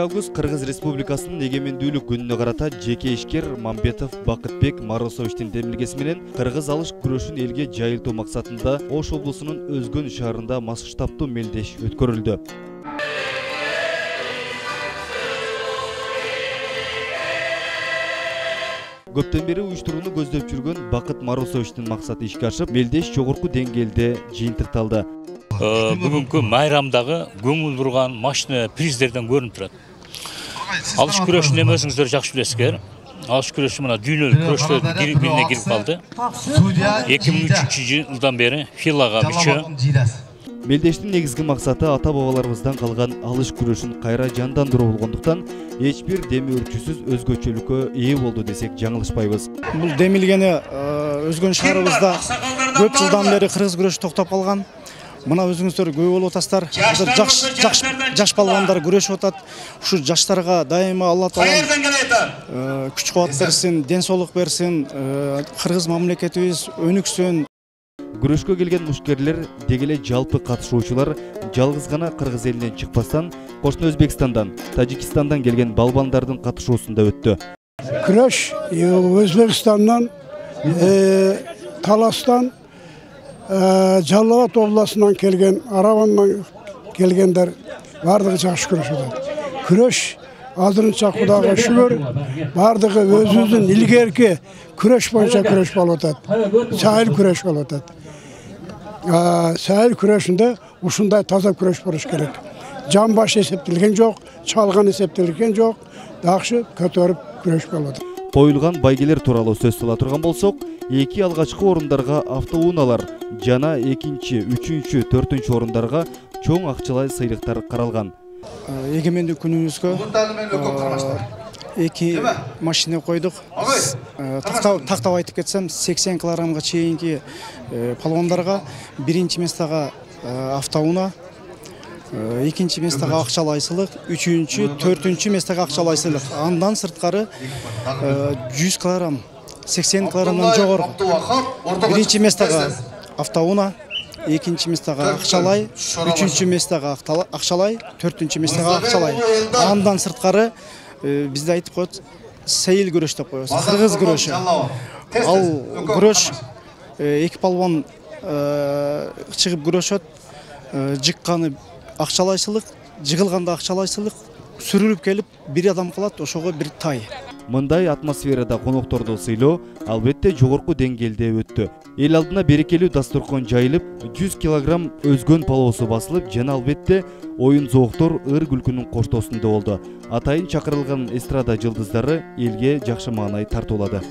Август Кыргыз Республикасынын эгемендүүлүк күнүнө карата жеке ишкер Мамбетов Бакытбек Марусовичтин демилгеси менен кыргыз алыш күрөшүн элге жайылтуу максатында Ош облусунун Өзгөн шаарында масштабтуу мелдеш өткөрүлдү. Көптөн бери уюштурууну көздөп жүргөн Бакыт Марусовичтин максаты ишке ашып, мелдеш жогорку деңгээлде жыйынтыкталды. Бүгүнкү майрамдагы көңүл бурган машина приздерден көрүнүп турат. Алыш күрөшүн эми өзүңүздөр жакшы билесиздер. Алыш күрөшү мына дүйнөлүк күрөштөрдүн бирине кирип калды. 2003 жылдан бери филага мүчө. Мелдештин негизги максаты ата бабаларыбыздан калган алыш күрөшүн кайра жандандыруу болгондуктан эч бир деми өрчүсүз өзгөчөлүккө ээ болду десек жаңылышпайбыз. Бул демилгени Өзгөн шаарыбызда көп жылдан бери кыргыз күрөшү токтоп калган. Мына өзүңүздөр көй болуп атасыздар. Жаш балбандар күрөшүп атат. Ушу жаштарга дайыма Алла Таала күч кубат берсин, ден соолук берсин, кыргыз мамлекетибиз өнүксүн. Күрөшкө келген мушкерлер деги эле жалпы катышуучулар жалгыз гана кыргыз элинен чыкпастан, кошуна Өзбекстандан, Тажикстандан келген балбандардын катышуусунда өттү. Күрөш Өзбекстандан, Таластан, Жалал Абад областынан келген, Арабандан келгендер бардыгы жакшы күрөшүп атат. Күрөш азырынча Кудайга шүгүр, бардыгы өзүбүздүн илгерки күрөш боюнча күрөш болуп атат. Сайыл күрөш болуп атат. Сайыл күрөшүндө ушундай таза күрөш болуш керек. Жан баш эсептелген жок, чалган эсептелген жок, жакшы көтөрүп күрөш болуп атат. Коюлган байгелер тууралуу сөз сала турган болсок, эки алгачкы орундарга автоунaalар жана экинчи, үчүнчү, төртүнчү орундарга чоң акчалай сыйлыктар каралган. Эгемендүүлүк күнүбүзгө эки машина койдук. Тактап айтып кетсем, 80 килограммга чейинки палвандарга биринчи местага автоунаа, экинчи местага акчалай сыйлык, үчүнчү, төртүнчү местага акчалай сыйлык. Андан сырткары 100 килограмм, 80 килограммдан жогору биринчи местага автоунаа, экинчи местага акчалай, үчүнчү местага акчалай, төртүнчү местага акчалай. Андан сырткары бизде айтып коет, сейил күрөш деп коебуз. Кыргыз күрөшү. Ал күрөш эки палван чыгып күрөшөт, жыкканы акчалай сыйлык, жыгылганда акчалай сыйлык, сүрүлүп келип бир адам калат, ошого бир тай. Мындай атмосферада конокторду сыйлоо албетте жогорку деңгээлде өттү. Эл алдына берекелүү дасторкон жайылып, 100 килограмм Өзгөн палоосу басылып, жана албетте оюн зооктор ыр күлкүнүн коштоосунда болду. Атайын чакырылган эстрада жылдыздары элге жакшы маанай тартуулады.